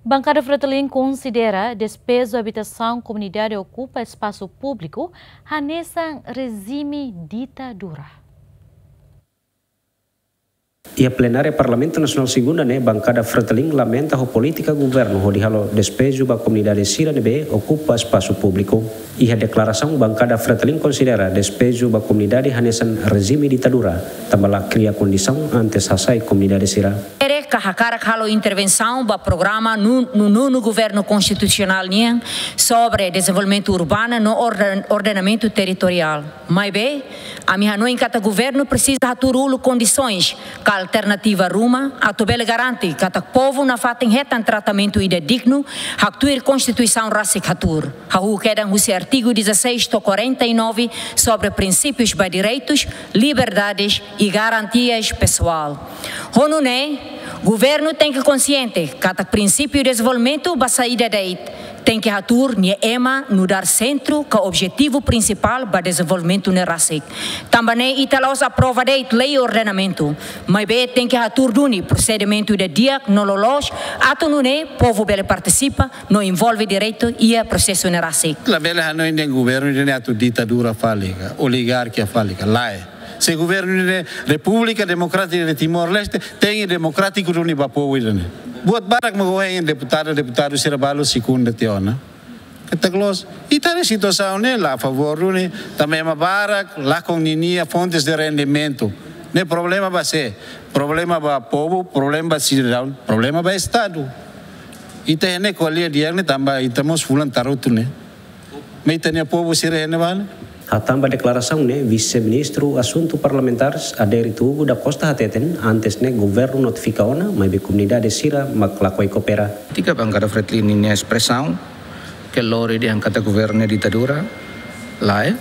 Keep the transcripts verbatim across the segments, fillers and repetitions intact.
Bankada Fretilin konsidera despeju habitasaun komunidade okupa espasu públiku hanesan rejime ditadura. Iha plenária Parlamentu Nasionál Segunda ne'e, Bankada Fretilin lamenta ho polítika governu hodi halo despeju ba komunidade sira ne'ebé okupa espasu públiku. Iha deklarasaun, Bankada Fretilin konsidera despeju ba komunidade hanesan rejime ditadura, tanba la kria kondisaun antes hasai komunidade sira. Ere ka hakarak halo intervensaun ba programa no, no, no governu konstitusionál nian sobre dezenvolvimentu urbanu no orden-, ordenamentu territoriál. Maibé, ami hanoin katak governu presiza hatuur uluk kondisoens ka alternativa ruma atu bele garante katak povu nafatin hetan tratamentu ida dignu, haktuir Konstituisaun rasik hatuur. Hahú kedan husi artigu dezasseis to'o quarenta e nove sobre prinsípius ba direitus, liberdades e garantias pesoál. Ho nune'e, governu tenke konsiente katak prinsípiu dezenvolvimentu ba saida de'it, tenke hatuur nia ema nu'udar sentru ka objetivu prinsipál ba dezenvolvimentu ne'e rasik. Tanba ne'e ita la'ós aprova de'it lei ordenamentu, maibé tenke hatuur duni prosedimentu ida di'ak no loloos, atu nune'e povu bele partisipa no envolve direitu iha prosesu ne'e rasik. Labele hanoin dehan governu ida-ne'e atu ditadura fali ka, oligarkia fali ka, lae. Se governu ida-ne'e Repúblika Demokrátika de Timor-Leste, tenke demokrátiku duni ba povu ida-ne'e. Buat barak mak ohin deputadu, deputadu sira balu segunda tiha ona. Katak loos, ita-nia situasaun ne'e la a favór duni, tanba ema barak lakon ninia fontes de rendimentu. Ne'e problema ba sé? Problema ba povu, problema ba sidadaun, problema ba Estadu. Ita iha ne'e ko'alia di'ak ne'e tanba ita mós fulan tarutu ne'e. Maibé ita-nia povu sira iha ne'ebá ne'e. Hatán ba deklarasaun ne'e, Vise-Ministru Asuntu Parlamentares, Adérito Hugo da Costa hateten, antes ne'e governu notifika ona, maibé komunidade sira mak lakohi koopera. Kritika Bankada Fretilin ninia espresaun, ke lori dehan katak governu ne'e ditadura, lae.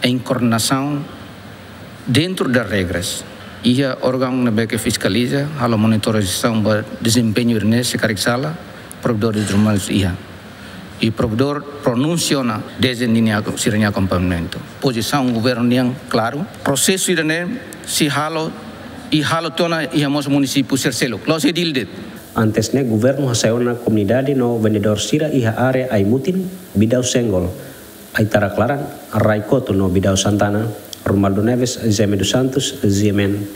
Em koordenasaun dentro das regras. Iha órgaun ne'ebé ke fiskaliza, halo monitorizasaun ba dezempeñu ne'e, se karik sala, provedór de rumah iha. I provedór pronunsia ona dezde ninia, sira-nia akompañamentu. Pozisaun governu nian klaru. Prosesu ida-ne'e sei halo, i halo tiha ona iha mós munisípiu sira seluk. La'ós edil de'it. Antes ne'e governu hasai ona komunidade no vendedór sira iha área Aimutin, Bidau Senggol, Aitarak Laran, Rai Kotu no Bidau Santana. Romualdo Neves, Jaime dos Santos, G M N.